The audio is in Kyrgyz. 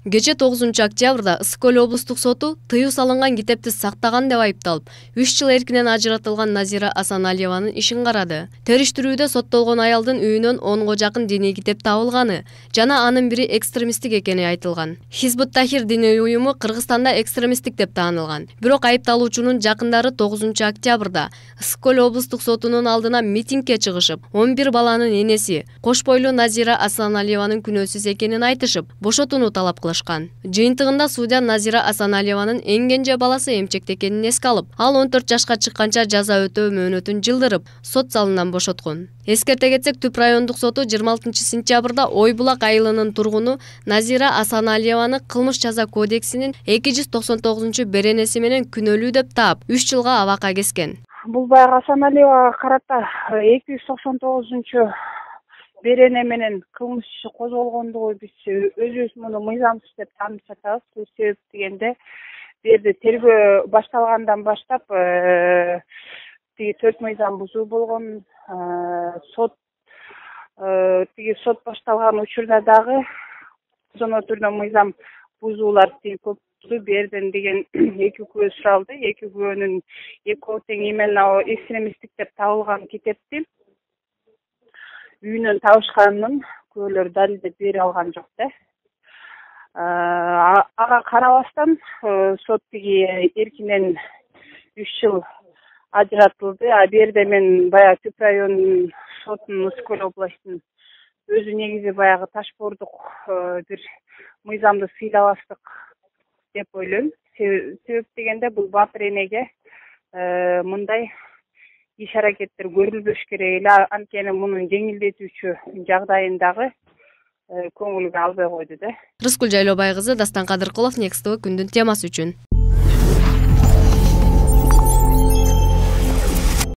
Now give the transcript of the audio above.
Кече 9-октябрда Ысык-Көл облустук соту тыюу салынган китепти сактаган деп айыпталып, 3 жыл эркинен ажыратылган Назира Асаналиеванын ишин карады. Териштирүүдө соттолгон аялдын үйүнөн 10го жакын диний китеп табылганы жана анын бири экстремисттик экени айтылган. Хизбут Тахир диний уюму Кыргызстанда экстремисттик деп таанылган. Бирок айыпталуучунун жакындары 9-октябрда Ысык-Көл облустук сотунун алдына митингге чыгышып, 11 баланын энеси кош бойлуу Назира Асаналиеванын күнөөсүз экенин айтышып, бошотууну талап кылышкан. Жыйынтыгында судья Назира Асаналиеванын эң кенже баласы эмчекте экенин эске алып, ал 14 жашка чыкканча жаза өтөө мөөнөтүн жылдырып, сот залынан бошоткон. Эскерте кетсек, Түп райондук соту 26-сентябрда Ой Булак айылынын тургуну Назира Асаналиеваны кылмыш жаза кодексинин 299 менен күнөөлүү деп таап, 3 жылга абакка кескен. Бул баягы Асаналиевага карата 299 берене менен кылмыш иши козголгондугу биз өзүбүз муну мыйзамсыз деп таанып жатабыз. Бул себеп дегенде бу жерде тергөө башталгандан баштап тиги 4 мыйзам бузуу болгон, сот башталган учурда дагы зона түрдө мыйзам бузуулар көп болду. Бу жерден деген 2 күбө суралды. 2 күбөнүн экөө тең именно экстремисттик деп табылган китепти үйүнөн табышканын күбөлөр далилдеп бере алган жок да. Ага карабастан сот тиги эркинен 3 жыл ажыратылды. Бу жерде мен баягы Түп районунун сотунун Ысык-Көл областынын өзү негизи баягы ташбордук бир мыйзамды сыйлабастык деп ойлойм. Себеп дегенде бул батыр энеге мындай иш-аракеттер көрүлбөш керек эле, анткени мунун жеңилдетүүчү жагдайын дагы көңүлгө албай койду да. Рыскүл Жайлообай кызы, Дастан Кадыркулов, Next TV күндүн темасы үчүн.